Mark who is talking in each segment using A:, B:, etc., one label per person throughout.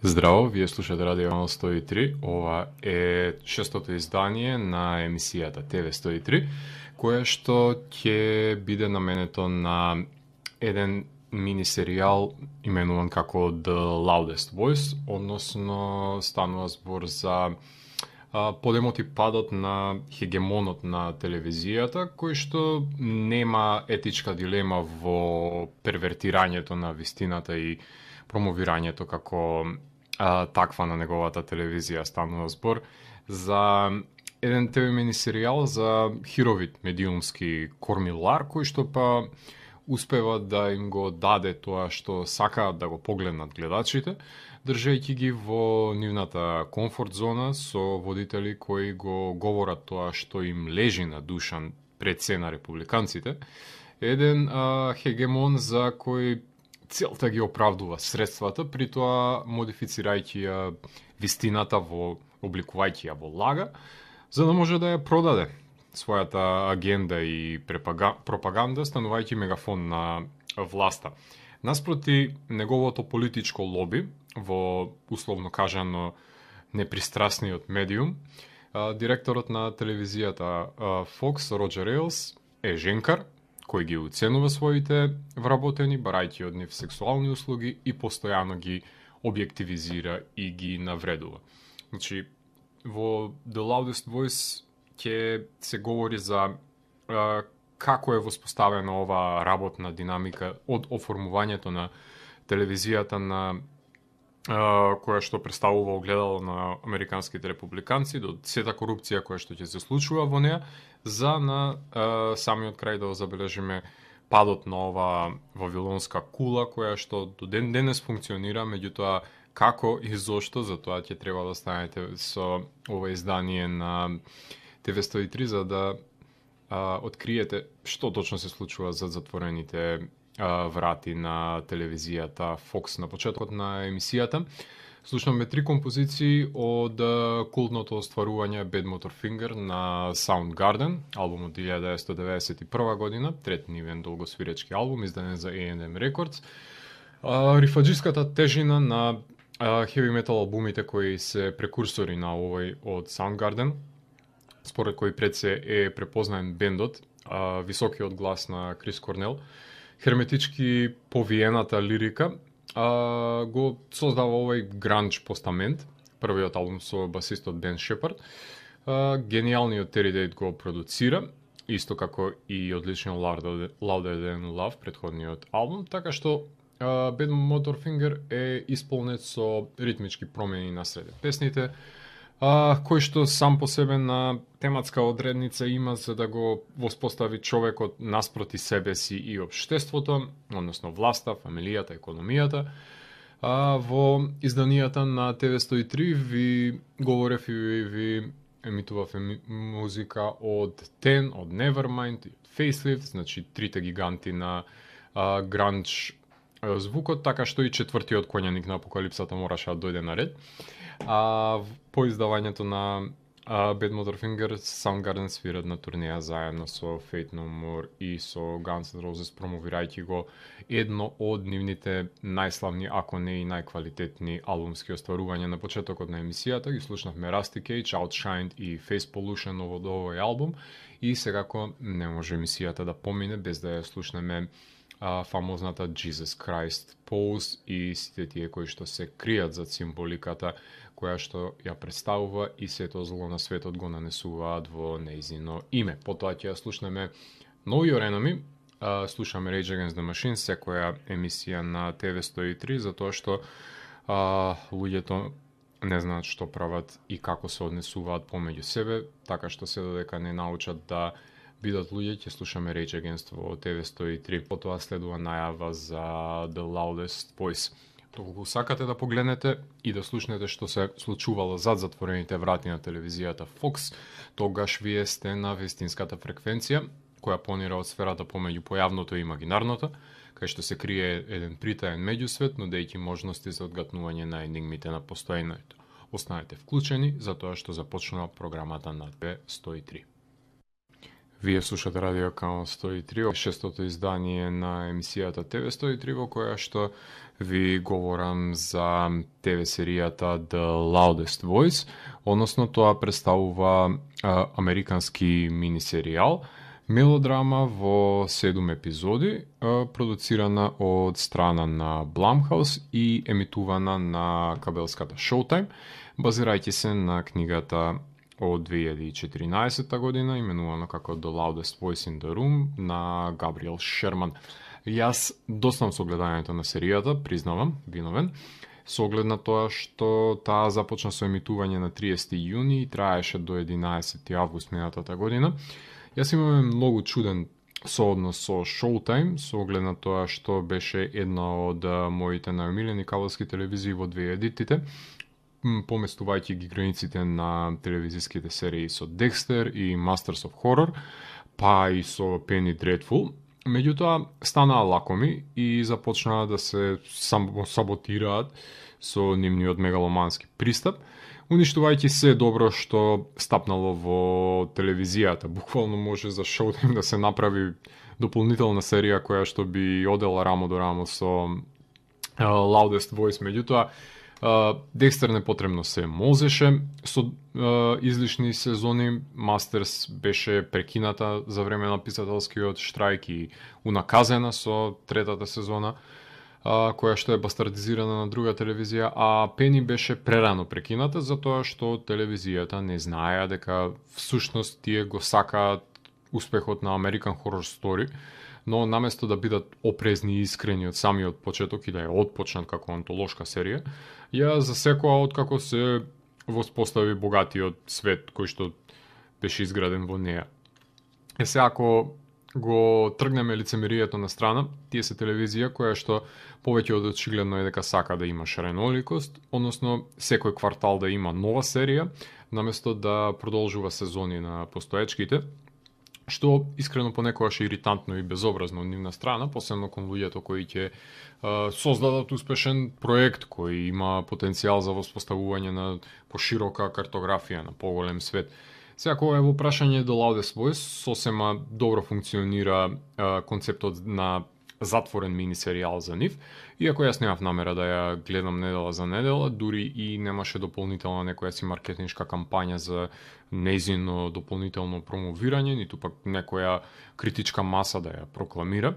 A: Здраво, вие слушате Радио 103. Ова е шестото издание на емисијата ТВ 103, кое што ќе биде наменето на еден мини серијал именуван како The Loudest Voice, односно станува збор за подемот и падот на хегемонот на телевизијата, кој што нема етичка дилема во первертирањето на вистината и промовирањето како таква на неговата телевизија. Станува збор за еден ТВ мини серијал за хировит медиумски кормилар, кој што па успева да им го даде тоа што сакаат да го погледнат гледачите, држејќи ги во нивната комфорт зона со водители кои го говорат тоа што им лежи на душа пред се на републиканците. Еден хегемон за кој целта ги оправдува средствата, при тоа модифицирајќи ја вистината обликувајќи ја во лага, за да може да ја продаде својата агенда и пропаганда, станувајќи мегафон на власта. Наспроти неговото политичко лоби, во условно кажано непристрасниот медиум, директорот на телевизијата Fox, Роџер Ейлс, е женкар, кој ги уценува своите вработени, барајќи од нив сексуални услуги и постојано ги објективизира и ги навредува. Значи, во The Loudest Voice ќе се говори за како е воспоставена ова работна динамика од оформувањето на телевизијата на која што представува огледало на американските републиканци, до сета корупција која што ќе се случува во неа, за на самиот крај да забележиме падот на ова вавилонска кула која што до ден денес функционира, меѓутоа како и зошто, за тоа ќе треба да станете со ова издание на ТВ 103 за да откриете што точно се случува за затворените врати на телевизијата Fox. На почетокот на емисијата слушнаме 3 композиции од култното остварување Bad Motorfinger на Soundgarden, албум од 1991 година, трет нивен долгосвиречки албум, издаден за A&M Records. Рифаџиската тежина на heavy metal албумите кои се прекурсори на овој од Soundgarden, според кој пред се е препознаен бендот, високиот глас на Крис Корнел, херметички повиената лирика, го создава овој гранж постамент, првиот албум со басистот Бен Шепард. Гениалниот Терри Дейт го продуцира, исто како и одличниот Louder Than Love, претходниот албум, така што Bad Motorfinger е исполнет со ритмички промени на среде песните, кој што сам по себе на тематска одредница има за да го воспостави човекот наспроти себе си и општеството, односно власта, фамилијата, економијата. Во изданијата на ТВ 103 ви говорев и ви емитував музика од Ten, од Nevermind, од Facelift, значи трите гиганти на гранж звукот, така што и четвртиот коњаник на апокалипсата мораше да дојде на ред. По издавањето на Bad Motorfinger, Soundgarden свират на турнеја заедно со Faith No More и со Guns N' Roses, промовирајќи го едно од нивните најславни, ако не и најквалитетни албумски остварувања. На почетокот на емисијата ги слушнавме Rusty Cage, Outshined и Face Pollution од овој албум и секако не може емисијата да помине без да ја слушнеме фамозната Jesus Christ Pose и сите тие кои што се кријат зад символиката која што ја представува и сето зло на светот го нанесуваат во нејзино име. Потоа ќе ја слушнеме Know Your Enemy, слушаме Rage Against the Machine, секоја емисија на ТВ 103, затоа што луѓето не знаат што прават и како се однесуваат помеѓу себе, така што се додека не научат да бидат луѓе, ќе слушаме Rage Against во ТВ 103. Потоа следува најава за The Loudest Voice. Доколку сакате да погледнете и да слушнете што се случувало зад затворените врати на телевизијата Fox, тогаш вие сте на вистинската фреквенција, која понира од сферата помеѓу појавното и имагинарното, кај што се крие еден притаен меѓусвет, нудејќи можности за одгатнување на енигмите на постојањето. Останете вклучени, затоа што започнува програмата на ТВ 103. Вие слушате Радио Канал 103, шестото издание на емисијата ТВ 103, во која што ви говорам за ТВ серијата The Loudest Voice, односно тоа представува американски мини серијал, мелодрама во 7 епизоди, продуцирана од страна на Blumhouse и емитувана на кабелската Showtime, базирајќи се на книгата од 2014 година, именувано како The Loudest Voice in the Room на Габриел Шерман. Јас доснам со гледањето на серијата, признавам, виновен, со оглед на тоа што таа започна со емитување на 30 јуни и траеше до 11 август минатата година. Јас имаме многу чуден сооднос со Showtime, со оглед на тоа што беше една од моите најомилени кабелски телевизии во 2000-тите, поместувајќи ги границите на телевизиските серии со Dexter и Masters of Horror, па и со Penny Dreadful. Меѓутоа, станаа лакоми и започнаа да се саботираат со нивниот мегаломански пристап, уништувајќи се добро што стапнало во телевизијата. Буквално може за Showtime да се направи дополнителна серија која што би одела рамо до рамо со Loudest Voice, меѓутоа Декстер непотребно се можеше со излишни сезони. Мастерс беше прекината за време на писателскиот штрајк и унаказена со третата сезона, која што е бастардизирана на друга телевизија, а Пени беше прерано прекината затоа што телевизијата не знаеа дека всушност тие го сакаат успехот на American Horror Story, но наместо да бидат опрезни и искрени од самиот почеток и да ја отпочнат како антолошка серија, ја засекоа откако се воспостави богатиот свет кој што беше изграден во неа. Се ако го тргнеме лицемерието на страна, тие се телевизија која што повеќе од очигледно е дека сака да има шареноликост, односно секој квартал да има нова серија, наместо да продолжува сезони на постоечките, што искрено понекогаш е иритантно и безобразно од нивна страна, посебно кон луѓето кои ќе создадат успешен проект кој има потенцијал за воспоставување на поширока картографија на поголем свет. Сега кога е во прашање The Loudest Voice, сосема добро функционира концептот на затворен мини серијал за нив, иако јас немав намера да ја гледам недела за недела, дури и немаше дополнителна некоја си маркетиншка кампања за нејзино дополнително промовирање, ниту пак некоја критичка маса да ја прокламира.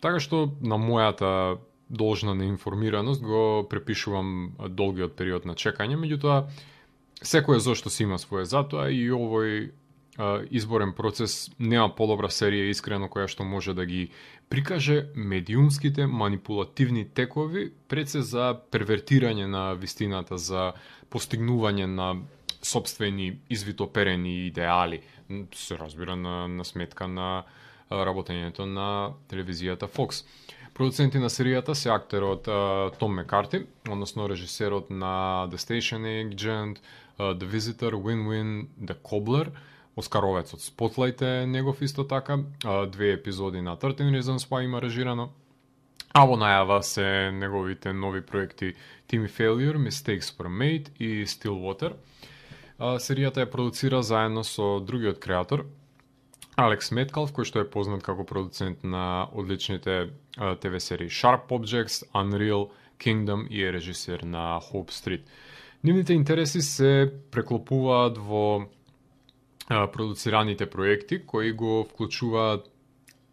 A: Така што на мојата должна неинформираност го препишувам долгиот период на чекање, меѓутоа секој зошто си има своје затоа и овој изборен процес нема подобра серија искрено која што може да ги прикаже медиумските манипулативни текови пред се за первертирање на вистината, за постигнување на сопствени извитоперени идеали, се разбира на сметка на работењето на телевизијата Fox. Продуценти на серијата се актерот Том Мекарти, односно режисерот на The Station Agent, The Visitor, Win-Win, The Cobbler, Оскаровецот Spotlight е негов исто така, 2 епизоди на 13 Reasons Why има режирано, а во најава се неговите нови проекти Timmy Failure, Mistakes Were Made и Stillwater. Серијата ја продуцира заедно со другиот креатор, Алекс Меткалф, кој што е познат како продуцент на одличните ТВ серии Sharp Objects, Unreal, Kingdom и е режисер на Hope Street. Нивните интереси се преклопуваат во продуцираните проекти кои го вклучуваат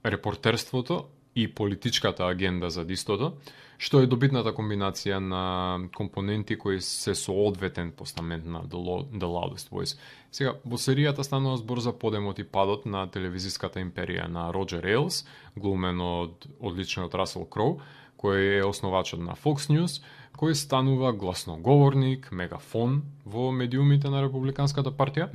A: репортерството и политичката агенда за дистото, што е добитната комбинација на компоненти кои се со одветен постамент на The Loudest Voice. Сега, во серијата станува збор за подемот и падот на телевизиската империја на Роджер Ейлс, глумен од одличниот Расел Кроу, кој е основачот на Fox News, кој станува гласноговорник, мегафон во медиумите на Републиканската партија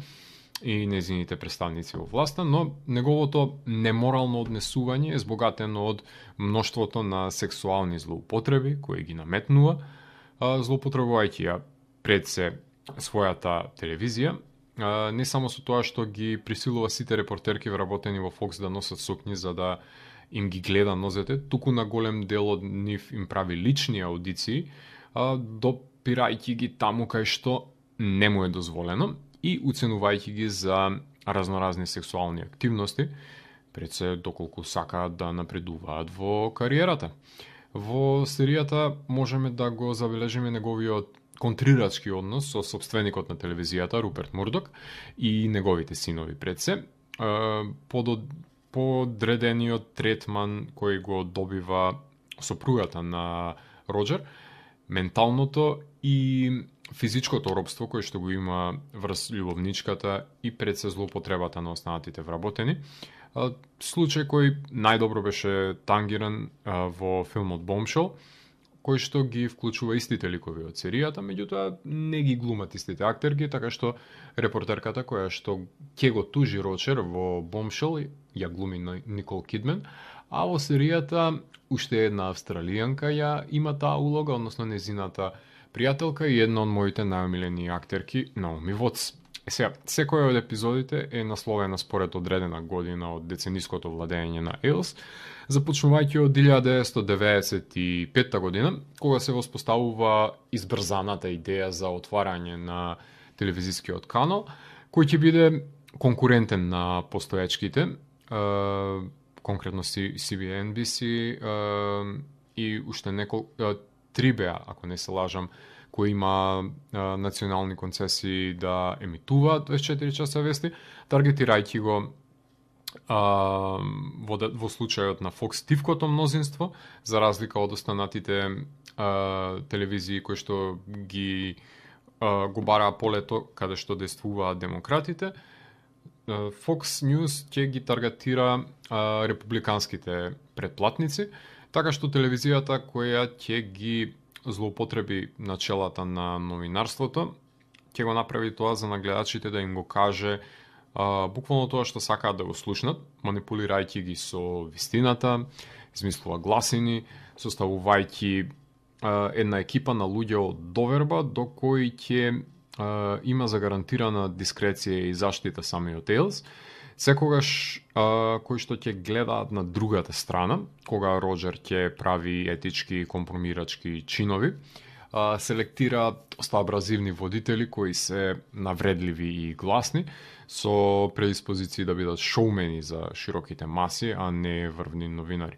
A: и незините представници во власта, но неговото неморално однесување е збогатено од мноштвото на сексуални злоупотреби кои ги наметнува, злоупотребувајќи ја пред се својата телевизија, не само со тоа што ги присилува сите репортерки вработени во Fox да носат сукњи за да им ги гледа нозете, туку на голем дел од нив им прави лични аудиции, допирајќи ги таму кај што не му е дозволено и уценувајќи ги за разноразни сексуални активности, пред се доколку сакаат да напредуваат во кариерата. Во серијата можеме да го забележиме неговиот контрирачки однос со собственикот на телевизијата Руперт Мурдок и неговите синови пред се, подредениот третман кој го добива сопругата на Роџер, менталното и физичкото робство кое што го има врз љубовничката и пред се злоупотребата на останатите вработени. Случај кој најдобро беше тангиран во филмот Bombshell, кој што ги вклучува истите ликови од серијата, меѓутоа не ги глумат истите актерки, така што репортерката која што ќе го тужи Роџер во Bombshell ја глуми Никол Кидман, а во серијата уште една австралијанка ја има таа улога, односно незината пријателка и една од моите најомилени актерки, Наоми Вотс. Сега, секоја од епизодите е насловена според одредена година од децениското владење на Ейлс, започнувајќи од 1995 година, кога се воспоставува избрзаната идеја за отварање на телевизискиот канал, кој ќе биде конкурентен на постоечките, конкретно CBNBC и уште неколку 3BA, ако не се лажам, кој има национални концесии да емитуваат 24 часа вести, таргетирајќи го во случајот на Fox тивкото мнозинство, за разлика од останатите телевизии кои што ги го бараа полето каде што действуваат демократите, Fox News ќе ги таргетира републиканските претплатници, така што телевизијата која ќе ги злоупотреби начелата на новинарството, ќе го направи тоа за нагледачите да им го каже буквално тоа што сакаат да го слушнат, манипулирајќи ги со вистината, измислува гласини, составувајќи една екипа на луѓе од доверба до кои ќе има загарантирана дискреција и заштита самиот Ейлс, секогаш кои што ќе гледаат на другата страна, кога Роџер ќе прави етички и компромирачки чинови, селектира доста абразивни водители кои се навредливи и гласни, со предиспозиции да бидат шоумени за широките маси, а не врвни новинари.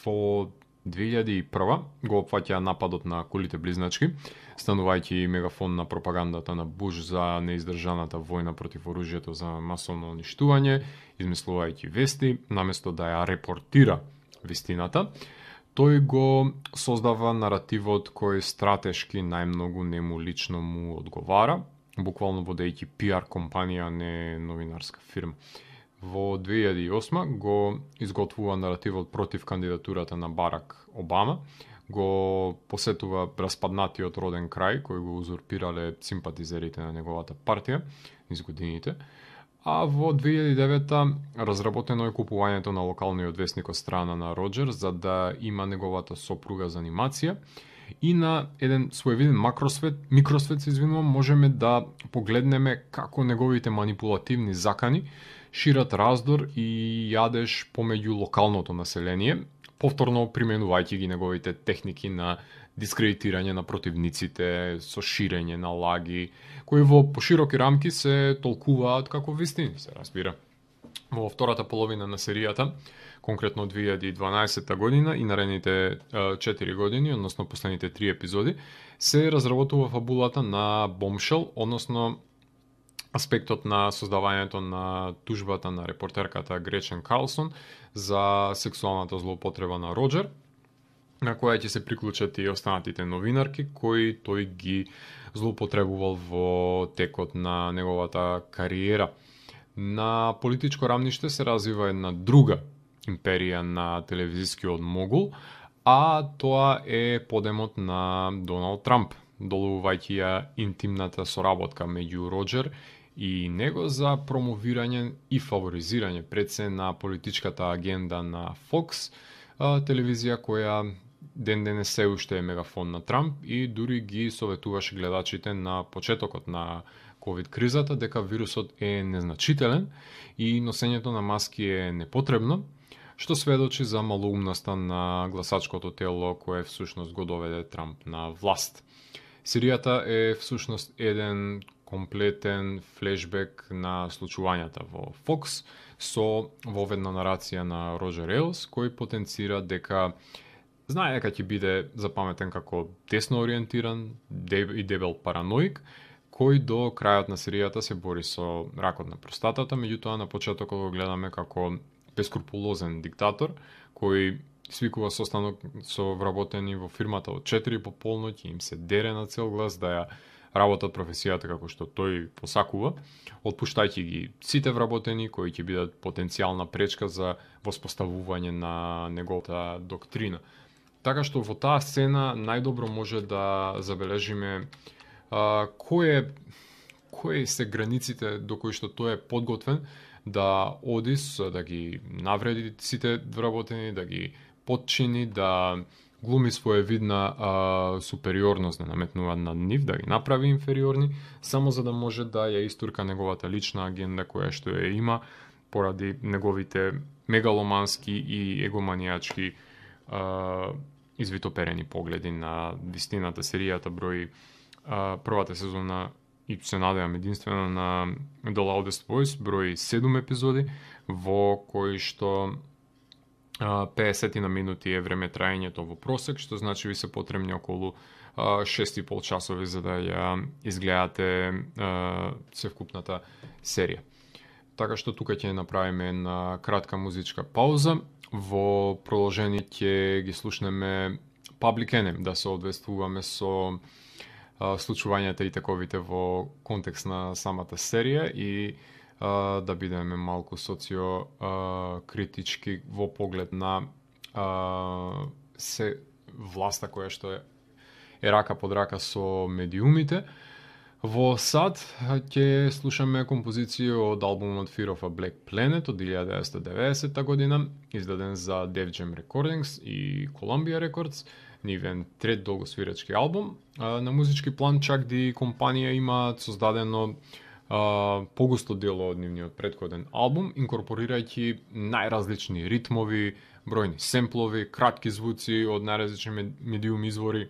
A: Во 2001 го опфаќа нападот на кулите близначки, станувајќи мегафон на пропагандата на Буш за неиздржаната војна против оружјето за масовно уништување, измислувајќи вести, наместо да ја репортира вистината, тој го создава наративот кој стратешки најмногу нему лично му одговара, буквално водејќи PR компанија, а не новинарска фирма. Во 2008 го изготвува наративот против кандидатурата на Барак Обама, го посетува распаднатиот роден крај, кој го узурпирале симпатизерите на неговата партија низ годините, а во 2009 разработено е купувањето на локалниот весник од страна на Роџер за да има неговата сопруга за анимација, и на еден своевиден микросвет, можеме да погледнеме како неговите манипулативни закани шират раздор и јадеж помеѓу локалното население, повторно применувајќи ги неговите техники на дискредитирање на противниците, со ширење на лаги, кои во пошироки рамки се толкуваат како вистини, се разбира. Во втората половина на серијата, конкретно 2012 година и наредните 4 години, односно последните 3 епизоди, се разработува фабулата на Bombshell, односно аспектот на создавањето на тужбата на репортерката Гречен Карлсон за сексуалната злоупотреба на Роџер, на која ќе се приклучат и останатите новинарки кои тој ги злоупотребувал во текот на неговата кариера. На политичко рамниште се развива една друга империја на телевизискиот могул, а тоа е подемот на Доналд Трамп, долувувајќи ја интимната соработка меѓу Роџер и него за промовирање и фаворизирање пред се на политичката агенда на Fox, телевизија која ден денес се уште е мегафон на Трамп и дури ги советуваше гледачите на почетокот на ковид кризата дека вирусот е незначителен и носењето на маски е непотребно, што сведочи за малоумноста на гласачкото тело кое всушност го доведе Трамп на власт. Серијата е всушност еден комплетен флешбек на случувањата во Fox со воведна нарација на Роџер Ейлс, кој потенцира дека знае дека ќе биде запаметен како десно ориентиран и дебел параноик, кој до крајот на серијата се бори со ракот на простатата, меѓутоа на почетокот го гледаме како бескрупулозен диктатор, кој свикува состанок со вработени во фирмата од 4 по полноќ и им се дере на цел глас да ја работат професијата како што тој посакува, отпуштајќи ги сите вработени кои ќе бидат потенцијална пречка за воспоставување на неговата доктрина. Така што во таа сцена најдобро може да забележиме кои се границите до кои што тој е подготвен да оди да ги навреди сите вработени, да ги подчини, да глуми своевидна супериорност, да наметнува над нив, да ги направи инфериорни, само за да може да ја истурка неговата лична агенда која што ја има поради неговите мегаломански и егоманијачки извитоперени погледи на вистината. Серијата брои првата сезона и се надевам единствено на The Loudest Voice брои 7 епизоди во кои што 50 на минути е време траењето во просек, што значи ви се потребни околу 6,5 часови за да ја изгледате севкупната серија. Така што тука ќе направиме една кратка музичка пауза. Во продолжение ќе ги слушнеме Public Enemy, да се одвестуваме со случувањата и таковите во контекст на самата серија и да бидеме малку социокритички во поглед на се власта која што е рака под рака со медиумите. Во САД ќе слушаме композиција од албумот Fear of a Black Planet од 1990 година, издаден за Def Jam Recordings и Columbia Records, нивен трет долгосвирачки албум. На музички план чак ди компанија имаат создадено погусто дело од нивниот претходен албум, инкорпорирајќи најразлични ритмови, бројни семплови, кратки звуци од најразлични медиум извори,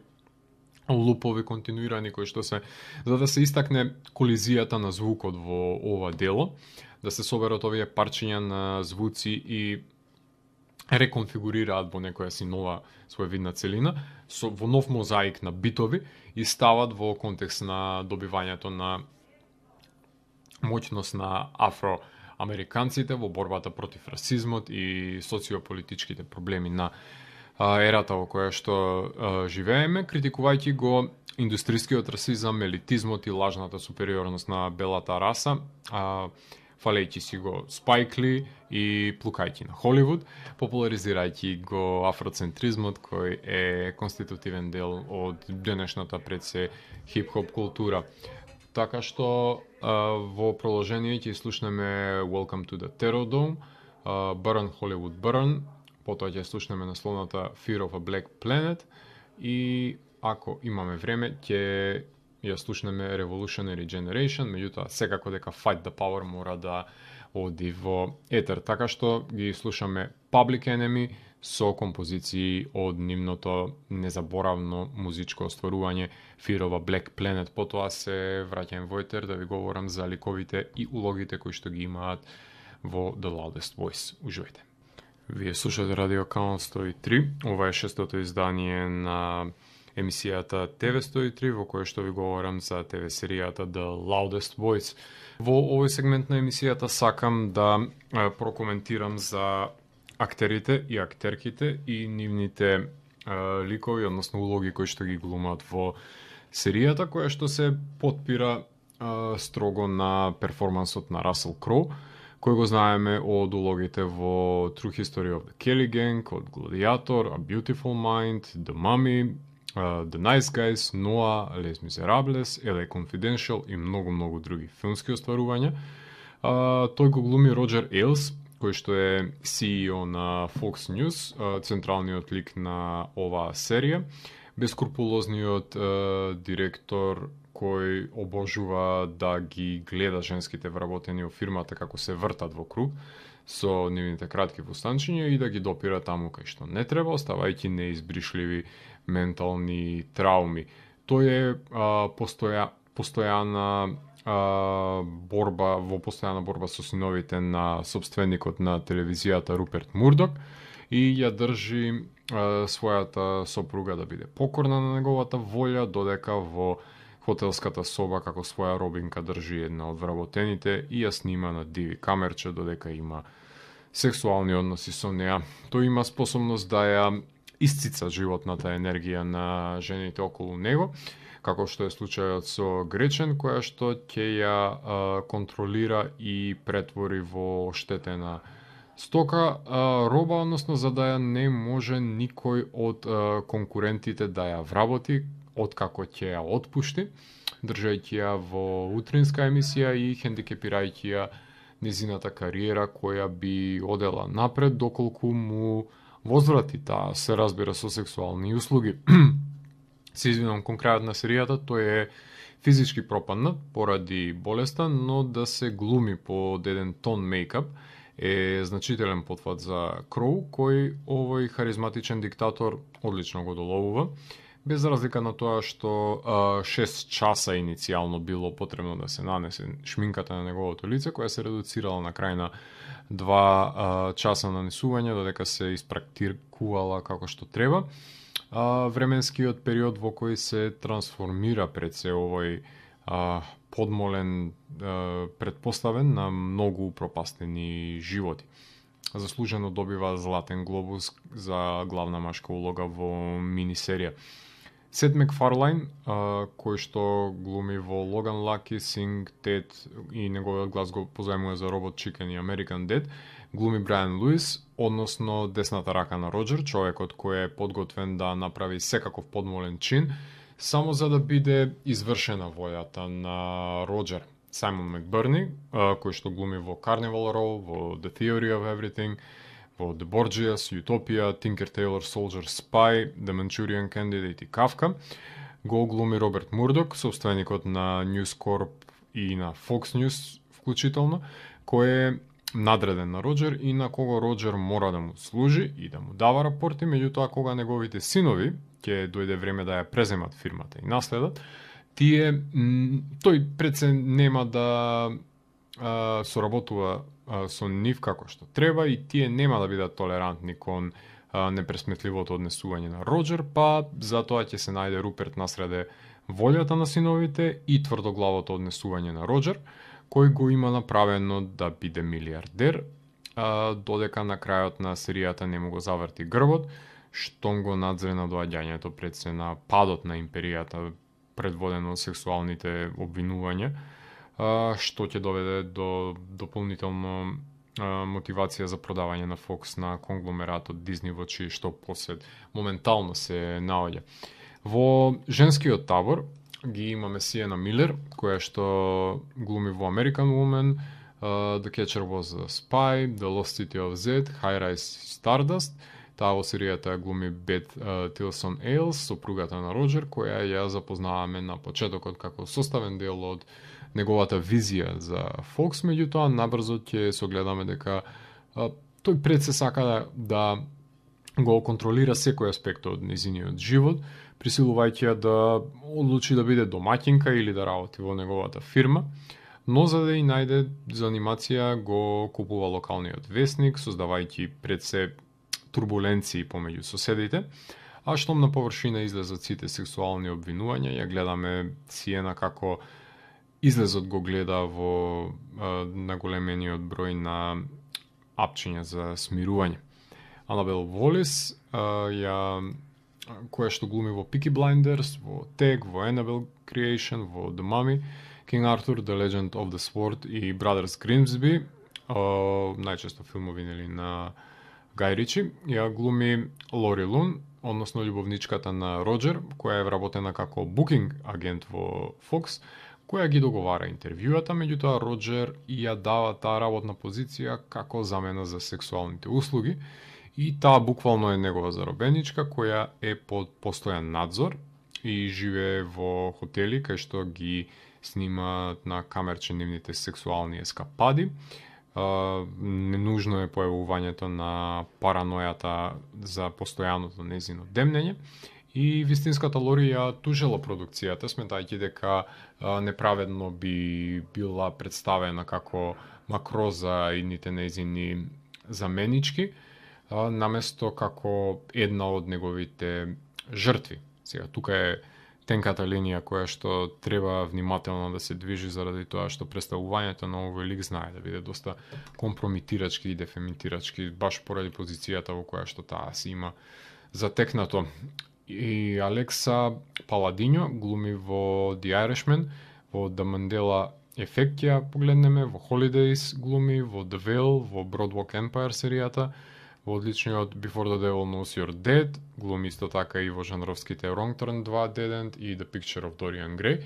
A: лупови континуирани кои што се за да се истакне колизијата на звукот во ова дело, да се соберат овие парчиња на звуци и реконфигурираат во некоја си нова своевидна целина, во нов мозаик на битови и стават во контекст на добивањето на моќност на афроамериканците во борбата против расизмот и социополитичките проблеми на ерата во која што живееме, критикувајќи го индустријскиот расизам, елитизмот и лажната супериорност на белата раса, фалејќи си го Спайк Ли и плукајќи на Холивуд, популаризирајќи го афроцентризмот кој е конститутивен дел од денешната пред се хип-хоп култура. Така што во продолжение ќе слушнеме Welcome to the Terror Dome, Burn Hollywood Burn, потоа ќе слушнеме насловната Fear of a Black Planet и ако имаме време ќе ја слушнеме Revolutionary Generation, меѓутоа секако дека Fight the Power мора да оди во етер. Така што ги слушаме Public Enemy со композиции од нивното незаборавно музичко остварување Fear of a Black Planet. Потоа се враќам во етер да ви говорам за ликовите и улогите кои што ги имаат во The Loudest Voice. Уживајте. Вие слушате Радио Канал 103. Ова е шестото издание на емисијата ТВ 103 во која што ви говорам за ТВ серијата The Loudest Voice. Во овој сегмент на емисијата сакам да прокоментирам за актерите и актерките и нивните ликови, односно улоги кои што ги глумат во серијата, која што се потпира строго на перформансот на Расел Кроу, кој го знаеме од улогите во True History of the Kelly Gang, од Gladiator, A Beautiful Mind, The Mummy, The Nice Guys, Noah, Les Miserables, LA Confidential и многу други филмски остварувања. Тој го глуми Роџер Ейлс, кој што е CEO на Fox News, централниот лик на оваа серија, бескрупулозниот директор кој обожува да ги гледа женските вработени во фирмата како се вртат во круг со нивните кратки фустанчиња и да ги допира таму кај што не треба, оставајќи неизбришливи ментални трауми. Тој е постојана борба, во постојана борба со синовите на собственикот на телевизијата Руперт Мурдок и ја држи својата сопруга да биде покорна на неговата волја, додека во хотелската соба како своја робинка држи една од вработените и ја снима на диви камерче додека има сексуални односи со неа. Тој има способност да ја исцица животната енергија на жените околу него, како што е случајот со Гречен, која што ќе ја контролира и претвори во оштетена стока, роба, односно за да ја не може никој од конкурентите да ја вработи, откако ќе ја отпушти, држајќи ја во утринска емисија и хендикепирајќи ја незината кариера која би одела напред доколку му возврати таа, се разбира, со сексуални услуги. Се извинувам, кон крајот на серијата тој е физички пропаднат поради болеста, но да се глуми под еден тон мејкап е значителен потфат за Кроу, кој овој харизматичен диктатор одлично го доловува, без разлика на тоа што 6 часа иницијално било потребно да се нанесе шминката на неговото лице, која се редуцирала на крај на 2 часа нанесување, додека се испрактикувала како што треба. Временскиот период во кој се трансформира пред се овој подмолен предпоставен на многу упропастени животи. Заслужено добива Златен глобус за главна машка улога во минисерија. Сет Макфарлайн, кој што глуми во Логан Лаки, Синг, Тед и неговиот глас го позајмува за Робот Чикен и American Dead, глуми Брайан Луис, односно десната рака на Роџер, човекот кој е подготвен да направи секаков подмолен чин, само за да биде извршена волјата на Роџер. Саймон Макберни, кој што глуми во Carnival Row, во The Theory of Everything, во The Borgias, Utopia, Tinker Tailor Soldier Spy, The Manchurian Candidate и Kafka. Го глуми Роберт Мурдок, собственикот на News Corp и на Fox News вклучително, кој е надреден на Роџер и на кого Роџер мора да му служи и да му дава рапорти, меѓутоа кога неговите синови ќе дојде време да ја преземат фирмата и наследат, тој пред се нема да соработува со нив како што треба и тие нема да бидат толерантни кон непресметливото однесување на Роџер, па затоа ќе се најде Руперт насреде волјата на синовите и тврдоглавото однесување на Роџер, кој го има направено да биде милиардер, додека на крајот на серијата не му го заврти грбот, штом го надзре на доаѓањето пред се на падот на империјата предводено од сексуалните обвинувања, што ќе доведе до дополнително мотивација за продавање на Fox на конгломератот Disney, во чии што посед моментално се наоѓа. Во женскиот табор ги имаме Сиена Милер, која што глуми во American Woman, The Catcher Was a Spy, The Lost City of Z, High Rise Stardust. Таа во серијата глуми Бет Тилсон Ейлс, сопругата на Роџер, која ја запознаваме на почетокот како составен дел од неговата визија за Fox, меѓутоа набрзо ќе согледаме дека тој пред се сака да го контролира секој аспект од незиниот живот, присилувајќи ја да одлучи да биде домаќинка или да работи во неговата фирма, но за да и најде занимација го купува локалниот весник, создавајќи пред се турбуленции помеѓу соседите, а штом на површина излезат сите сексуални обвинувања, ја гледаме Сиена како излезот го гледа во наголемениот број на апчиња за смирување. Анабел Волис, која што глуми во Peaky Blinders, во Tag, во Annabelle Creation, во The Mummy, King Arthur, The Legend of the Sword и Brothers Grimsby, најчесто филмови на Гај Ричи, ја глуми Лори Лун, односно љубовничката на Роџер, која е вработена како букинг агент во Fox, која ги договара интервјуата, меѓутоа Роџер ја дава таа работна позиција како замена за сексуалните услуги и таа буквално е негова заробеничка која е под постојан надзор и живее во хотели кај што ги снимаат на камерче нивните сексуални ескапади. Ненужно е појавувањето на паранојата за постојаното незино демнење И вистинската Лори ја тужела продукцијата, сметајќи дека неправедно би била представена како макроза и ните нејзини заменички, наместо како една од неговите жртви. Сега, тука е тенката линија која што треба внимателно да се движи заради тоа што представувањето на овој лик знае да биде доста компромитирачки и дефемитирачки, баш поради позицијата во која што таа си има затекнато. И Алекса Паладиньо глуми во The Irishman, во The Mandela Effect ја погледнеме, во Holidays глуми, во The Veil, во Boardwalk Empire серијата, во одличниот Before the Devil Knows You're Dead, глуми исто така и во жанровските Wrong Turn 2 Dead End и The Picture of Dorian Gray.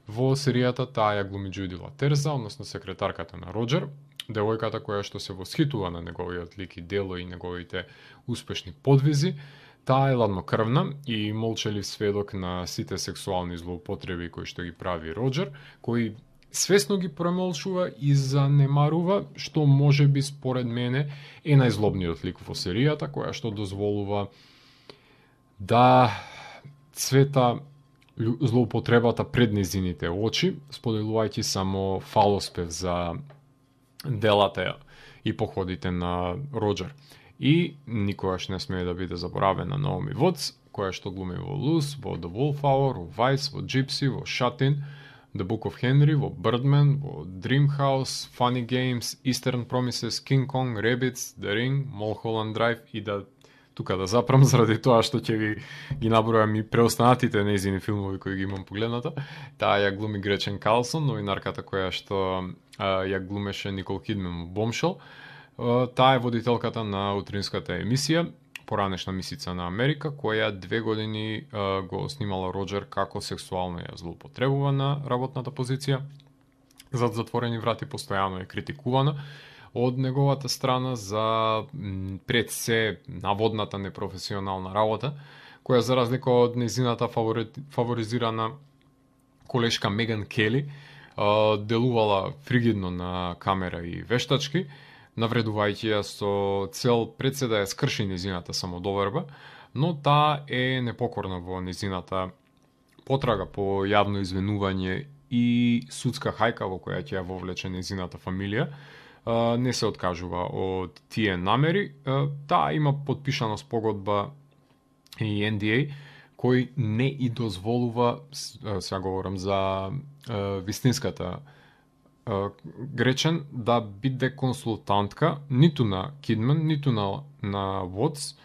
A: Во серијата таа ја глуми Джуди Латерза, односно секретарката на Роџер, девојката која што се восхитува на неговиот лик и дело и неговите успешни подвизи. Таа е ладнокрвна и молчалив сведок на сите сексуални злоупотреби кои што ги прави Роџер, кој свесно ги премолчува и занемарува, што може би според мене е најзлобниот лик во серијата, која што дозволува да цвета злоупотребата пред незините очи, споделувајќи само фалоспев за делата и походите на Роџер. И никогаш не смее да биде заборавена Наоми Вотс, која што глуми во Лус, во The Wallflower, во Vice, во Gypsy, во Shut In, The Book of Henry, во Birdman, во Dreamhouse, Funny Games, Eastern Promises, King Kong, Rabbids, The Ring, Mulholland Drive и да тука да запрам заради тоа што ќе ви ги набројам и преостанатите нејзини филмови кои ги имам погледната. Таа ја глуми Гречен Карлсон, новинарката која што ја глумеше Никол Кидман во Bombshell. Таа е водителката на утринската емисија, поранешна мисица на Америка, која 2 години го снимала Роџер како сексуално ја злоупотребува на работната позиција. Зад затворени врати постојано е критикувана од неговата страна за пред се наводната непрофесионална работа, која за разлика од незината фаворизирана колешка Меган Кели, делувала фригидно на камера и вештачки, навредувајќи ја со цел пред се да ја скрши незината самодоверба, но таа е непокорна во незината потрага по јавно извинување и судска хајка во која ќе ја вовлече незината фамилија. Не се откажува од тие намери. Таа има подпишана спогодба и NDA, кој не и дозволува, сега говорам за вистинската Гречен, да биде консултантка ниту на Кидман, ниту на Вотс,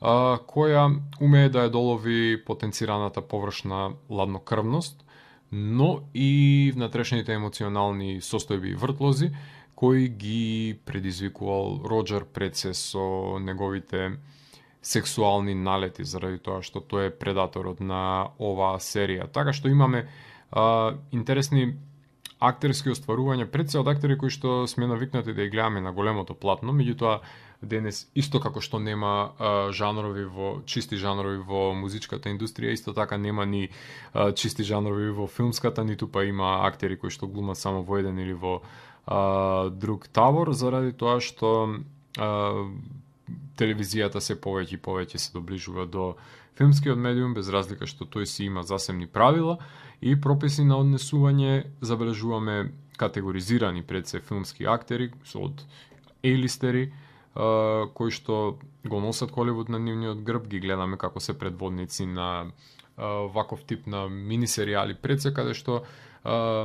A: која умее да ја долови потенцираната површна ладнокрвност, но и внатрешните емоционални состојби и вртлози, кои ги предизвикувал Роџер пред се со неговите сексуални налети, заради тоа што тој е предаторот на оваа серија. Така што имаме интересни актерски остварувања пред се од актери кои што сме навикнати да ги гледаме на големото платно, меѓутоа денес исто како што нема чисти жанрови во музичката индустрија, исто така нема ни чисти жанрови во филмската, ниту па има актери кои што глумат само во еден или во друг табор, заради тоа што телевизијата се повеќе и повеќе се доближува до филмскиот медиум, без разлика што тој си има засебни правила и прописи на однесување. Забележуваме категоризирани пред се филмски актери од ейлистери, кои што го носат Холивуд на нивниот грб, ги гледаме како се предводници на ваков тип на мини серијали пред се, каде што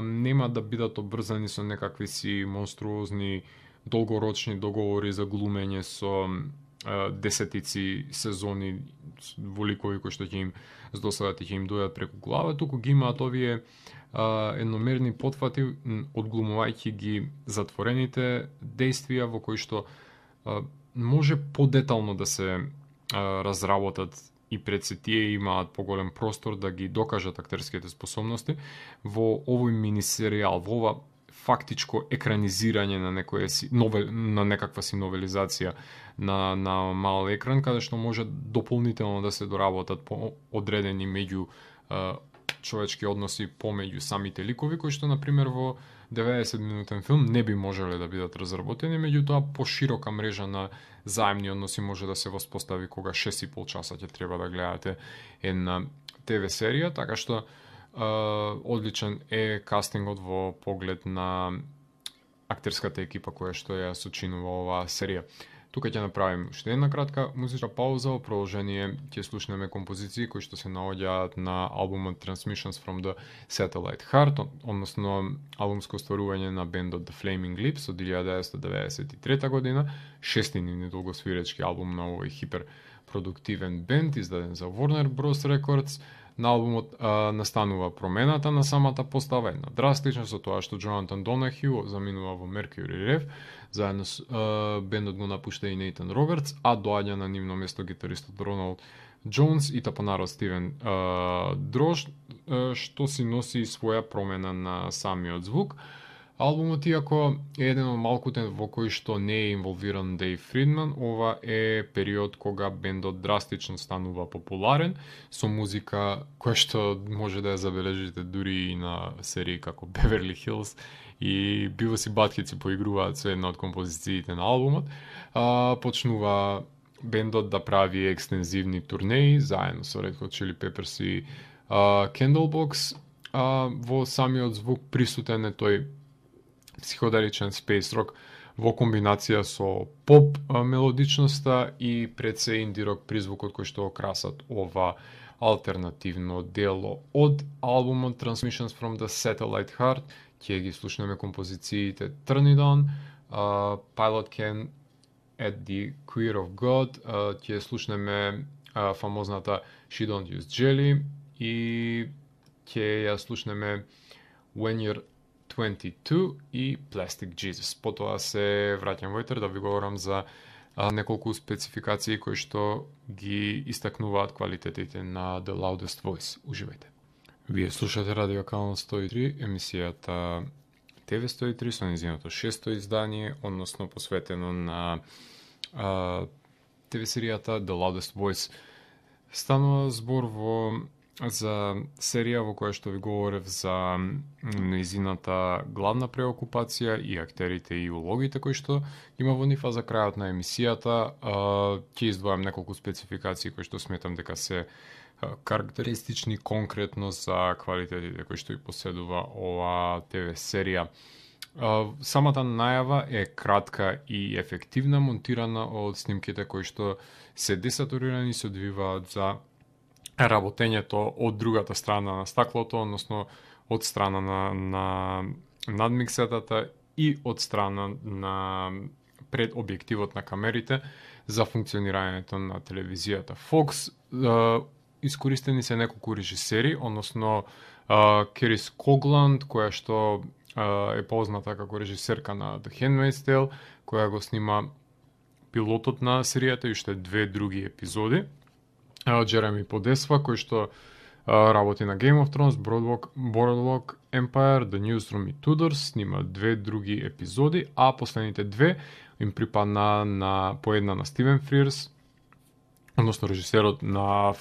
A: нема да бидат обрзани со некакви си монструозни долгорочни договори за глумење со десетици сезони во ликови кои што ќе им здосадат и ќе им дојдат преку глава, туку ги имаат овие едномерни потфати, одглумувајќи ги затворените действија во кои што може подетално да се разработат и пред се тие имаат поголем простор да ги докажат актерските способности во овој мини серијал, во ова фактичко екранизирање на некаква си новелизација на мал екран, каде што може дополнително да се доработат по одредени меѓу човечки односи помеѓу самите ликови, кои што, например, во 90-минутен филм не би можеле да бидат разработени, меѓутоа поширока мрежа на заемни односи може да се воспостави кога 6,5 часа ќе треба да гледате една ТВ серија, така што одличен е кастингот во поглед на актерската екипа која што ја сочинува оваа серија. Тука ќе направим уште една кратка музичка пауза, во продолжение ќе слушнеме композиции кои што се наоѓаат на албумот Transmissions from the Satellite Heart, односно албумско остварување на бендот The Flaming Lips од 1993 година, шести нивни долгосвиречки албум на овој хиперпродуктивен бенд, издаден за Warner Bros. Records. На албумот настанува промената на самата постава, една драстична, со тоа што Джонатан Донахју заминува во Mercury Rev, заедно с бендот го напушта и Нейтан Робертс, а доаѓа на нивно место гитаристот Роналд Джонс и тапанарот Стивен Дрош, што си носи своја промена на самиот звук. Албумот, иако е еден од малкуте во кој што не е инволвиран Дейв Фридман, ова е период кога бендот драстично станува популарен, со музика која што може да ја забележите дури и на серии како Beverly Hills и Beavis и Butthead си поигруваат со една од композициите на албумот. Почнува бендот да прави екстензивни турнеи заедно со Red Hot Chili Peppers и Candlebox. Во самиот звук присутен е тој психоделичен space rock во комбинација со поп мелодичноста и пред се инди-рок призвукот кој што окрасат ова алтернативно дело. Од албумот Transmissions from the Satellite Heart ќе ги слушнеме композициите Turn It On, Pilot Can at the Queer of God, ќе слушнеме фамозната She Don't Use Jelly и ќе ја слушнеме When You're 22 и Plastic Jesus. Потоа се враќам во етер да ви говорам за неколку спецификации кои што ги истакнуваат квалитетите на The Loudest Voice. Уживајте. Вие слушате Радио Канал 103, емисијата ТВ 103 со нејзиното шесто издание, односно посветено на ТВ серијата The Loudest Voice. Станува збор за серија во која што ви говорев за нејзината главна преокупација и актерите и улогите кои што има во нив, а за крајот на емисијата ќе издвојам неколку спецификации кои што сметам дека се карактеристични конкретно за квалитетите кои што и поседува ова ТВ серија. Самата најава е кратка и ефективна, монтирана од снимките кои што се десатурирани и се одвиваат за работењето од другата страна на стаклото, односно од страна на надмиксетата и од страна на пред објективот на камерите за функционирањето на телевизијата. Fox искористени се неколку режисери, односно Керис Когланд, која што е позната како режисерка на The Handmaid's Tale, која го снима пилотот на серијата и уште две други епизоди. Джереми Подесва, кој што работи на Game of Thrones, Boardwalk Empire, The Newsroom и Tudors, снима две други епизоди, а последните две им припадна по една на Стивен Фрирс, односно режисерот на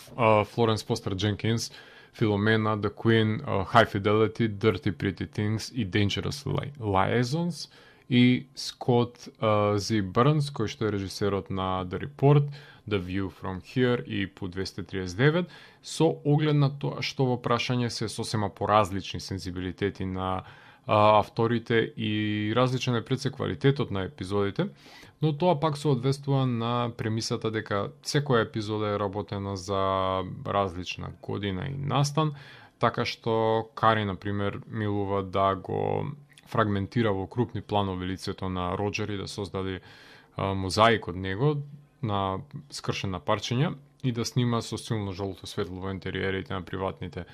A: Флоренс Фостер Дженкинс, Филомена, The Queen, High Fidelity, Dirty Pretty Things и Dangerous Liaisons, и Скот З. Бърнс, кој што е режисерот на The Report, The View from Here и по 239, со оглед на тоа што во прашање се сосема поразлични сензибилитети на авторите и различен е пред се квалитетот на епизодите, но тоа пак се одвестува на премисата дека секоја епизода е работена за различна година и настан, така што Кари, например, милува да го фрагментира во крупни планови лицето на Роджер и да создаде мозаик од него, на скршен на парчиња и да снима со силно жолто светло во интериерите на приватните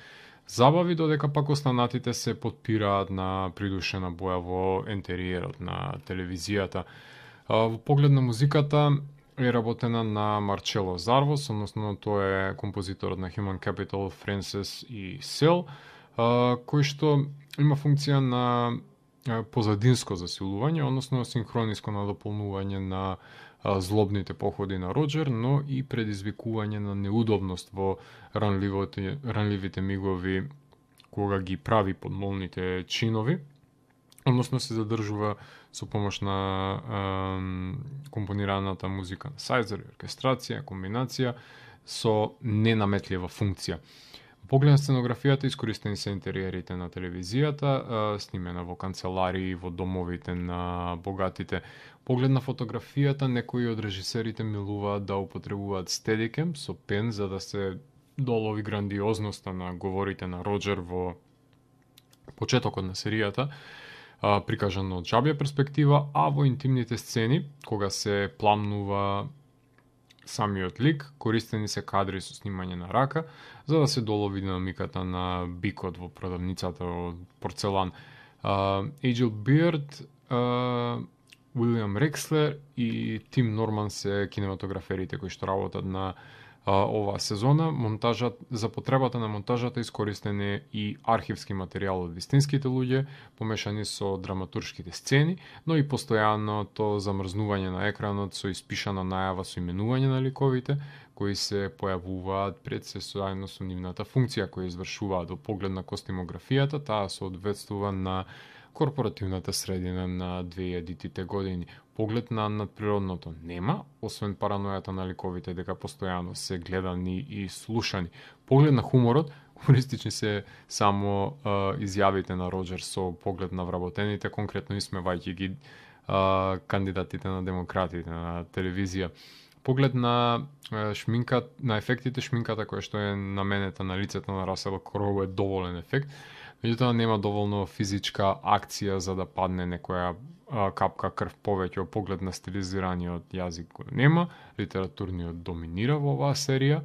A: забави, додека пак останатите се потпираат на придушена боја во интериерот на телевизијата. Во поглед на музиката е работена на Марчело Зарвос, односно тој е композиторот на Human Capital, Frances и Cell, кој што има функција на позадинско засилување, односно синхрониско надополнување на злобните походи на Роджер, но и предизвикување на неудобност во ранливите мигови кога ги прави подмолните чинови, односно се задржува со помош на компонираната музика на сајзер, оркестрација, комбинација со ненаметлива функција. Поглед на сценографијата, искористени се интериерите на телевизијата, снимена во канцеларии, во домовите на богатите. Поглед на фотографијата, некои од режисерите милуваат да употребуваат стедикем со пен за да се долови грандиозноста на говорите на Роџер во почетокот на серијата, прикажано од жабја перспектива, а во интимните сцени, кога се пламнува самиот лик, користени се кадри со снимање на рака, за да се долови динамиката на бикот во продавницата од порцелан. Ејджел Бирд, Уилјам Рекслер и Тим Норман се кинематограферите кои што работат на оваа сезона. За потребата на монтажата искористен е и архивски материјал од вистинските луѓе, помешани со драматуршките сцени, но и постојаното замрзнување на екранот со испишана најава со именување на ликовите, кои се појавуваат пред се заедно со нивната функција која извршуваат. Во поглед на костимографијата, таа соодветствува на корпоративната средина на 2000-тите години. Поглед на надприродното нема, освен паранојата на ликовите дека постојано се гледани и слушани. Поглед на хуморот, хумористични се само изјавите на Роџер со поглед на вработените, конкретно исмевајќи ги кандидатите на демократите на телевизија. Поглед на на ефектите, шминката која што е наменета на лицето на Расел Кроу е доволен ефект, меѓутоа нема доволно физичка акција за да падне некоја капка крв повеќе. Во поглед на стилизираниот јазик го нема, литературниот доминира во оваа серија,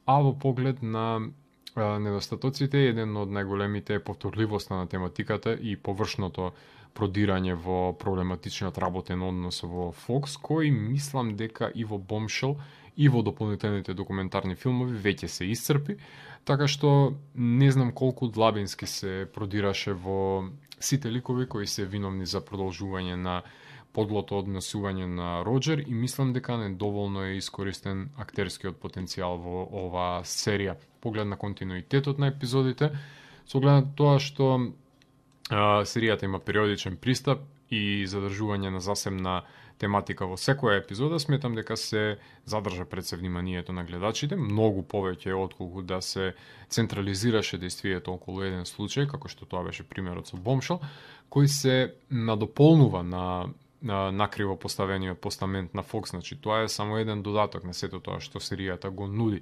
A: а во поглед на недостатоците, еден од најголемите е повторливоста на тематиката и површното продирање во проблематичниот работен однос во Fox, кој мислам дека и во Bombshell и во дополнителните документарни филмови веќе се исцрпи, така што не знам колку длабински се продираше во сите ликови кои се виновни за продолжување на подлото однесување на Роџер и мислам дека недоволно е искористен актерскиот потенцијал во оваа серија. Поглед на континуитетот на епизодите, со оглед на тоа што серијата има периодичен пристап и задржување на засебна тематика во секоја епизода, сметам дека се задржа пред се вниманието на гледачите, многу повеќе отколку да се централизираше действието околу еден случај, како што тоа беше примерот со Bombshell, кој се надополнува на накриво поставениот постамент на Fox. Значи, тоа е само еден додаток на сето тоа што серијата го нуди.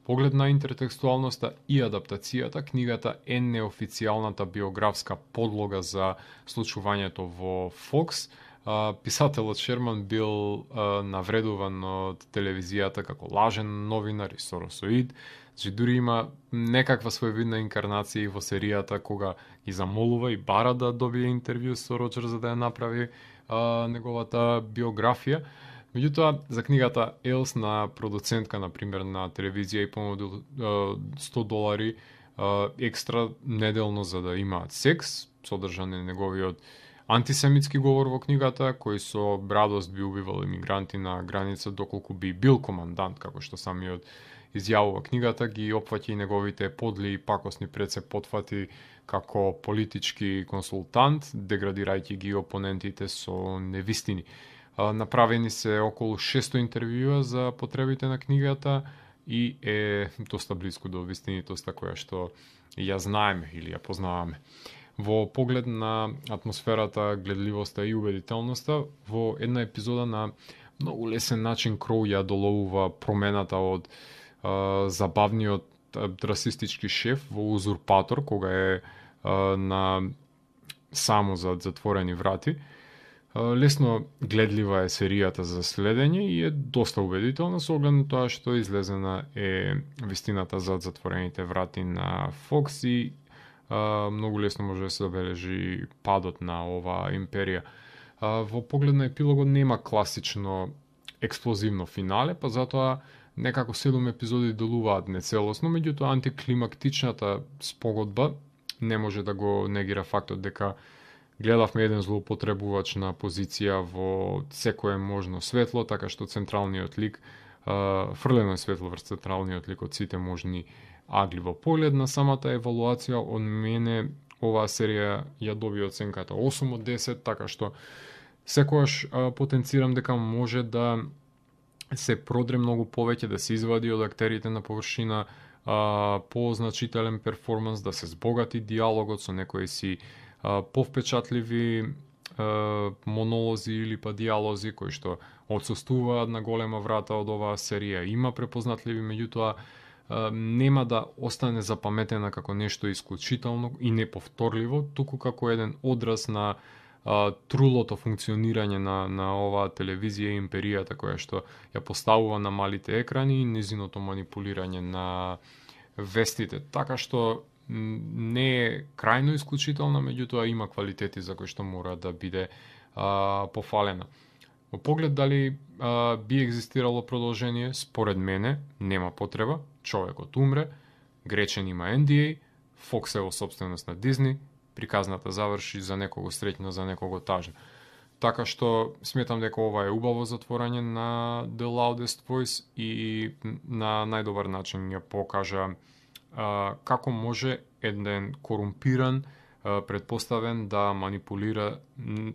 A: Поглед на интертекстуалноста и адаптацијата, книгата е неофицијалната биографска подлога за случувањето во Fox. Писателот Шерман бил навредуван од телевизијата како лажен новинар и соросоид. Значи, дури има некаква своевидна инкарнација во серијата кога ги замолува и бара да добие интервју со Роџер за да ја направи неговата биографија. Меѓутоа, за книгата Елс на продуцентка, например, на телевизија и понудил $100 екстра неделно за да имаат секс, содржан е неговиот антисемитски говор во книгата, кој со радост би убивал имигранти на граница доколку би бил командант, како што самиот изјавува книгата, ги опфаќа и неговите подли и пакосни пред се потфати како политички консултант, деградирајќи ги опонентите со невистини. Направени се околу 600 интервјуа за потребите на книгата и е доста близко до вистинитоста која што ја знаеме или ја познаваме. Во поглед на атмосферата, гледливоста и убедителноста, во една епизода на многу лесен начин Кроу ја доловува промената од забавниот расистички шеф во Узурпатор, кога е само зад затворени врати. Лесно гледлива е серијата за следење и е доста убедителна со оглед на тоа што излезена е вистината зад затворените врати на Fox и многу лесно може да се забележи падот на оваа империја. Во поглед на епилогот нема класично експлозивно финале, па затоа некако 7 епизоди делуваат нецелосно, меѓутоа антиклимактичната спогодба не може да го негира фактот дека гледавме еден злоупотребувач на позиција во секое можно светло, така што централниот лик, фрлено е светло врз централниот лик од сите можни агливо поглед на самата евалуација, од мене оваа серија ја доби оценката 8 од 10, така што секогаш потенцирам дека може да се продре многу повеќе, да се извади од актерите на површина позначителен перформанс, да се збогати диалогот со некои си повпечатливи монолози или па диалози кои што отсуствуваат на голема врата од оваа серија. Има препознатливи, меѓутоа нема да остане запаметена како нешто исклучително и неповторливо, туку како еден одраз на трулото функционирање на оваа телевизија и империјата која што ја поставува на малите екрани и незиното манипулирање на вестите. Така што не е крајно исклучителна, меѓутоа има квалитети за кои што мора да биде пофалена. Во поглед дали би екзистирало продолжение, според мене нема потреба. Човекот умре, Гречен има NDA, Fox е во собственост на Дизни, приказната заврши за некого среќна, за некого тажна. Така што сметам дека ова е убаво затворање на The Loudest Voice и на најдобар начин ја покажа како може еден корумпиран, предпоставен да манипулира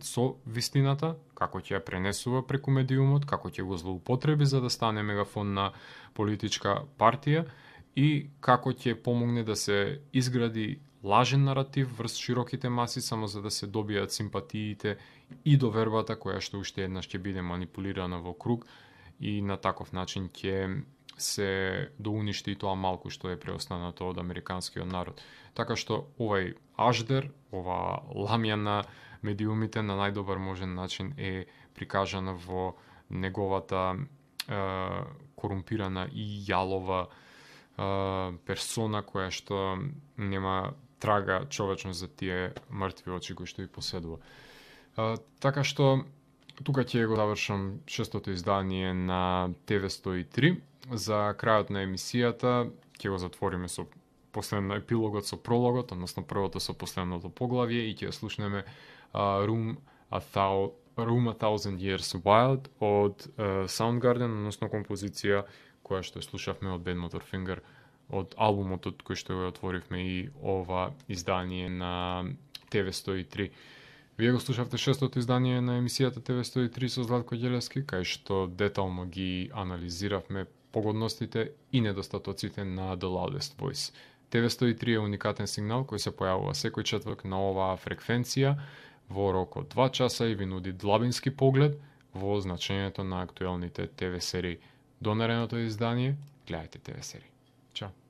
A: со вистината, како ќе ја пренесува преку медиумот, како ќе го злоупотреби за да стане мегафон на политичка партија и како ќе помогне да се изгради лажен наратив врз широките маси само за да се добијат симпатиите и довербата која што уште еднаш ќе биде манипулирана во круг и на таков начин ќе се доуништи и тоа малку што е преостанато од американскиот народ. Така што овај аждер, ова ламја на медиумите на најдобар можен начин е прикажана во неговата корумпирана и јалова персона која што нема трага човечност за тие мртви очи кои што и поседува. Така што тука ќе го завршам шестото издание на TV103. За крајот на емисијата ќе го затвориме со епилогот со прологот, односно првото со последното поглавје и ќе слушнеме Room a Thousand Years Wild од Soundgarden, односно композиција која што слушавме од Bad Motorfinger, од албумот од кој што го отворивме и ова издание на TV103. Вие го слушавте шестото издание на емисијата TV103 со Златко Ѓелевски, кај што детално ги анализиравме погодностите и недостатоците на The Loudest Voice. TV103 е уникатен сигнал кој се појавува секој четврток на оваа фреквенција во рок од 2 часа и ви нуди длабински поглед во значењето на актуелните ТВ серии. До наредното издание, гледајте ТВ серии. Чао!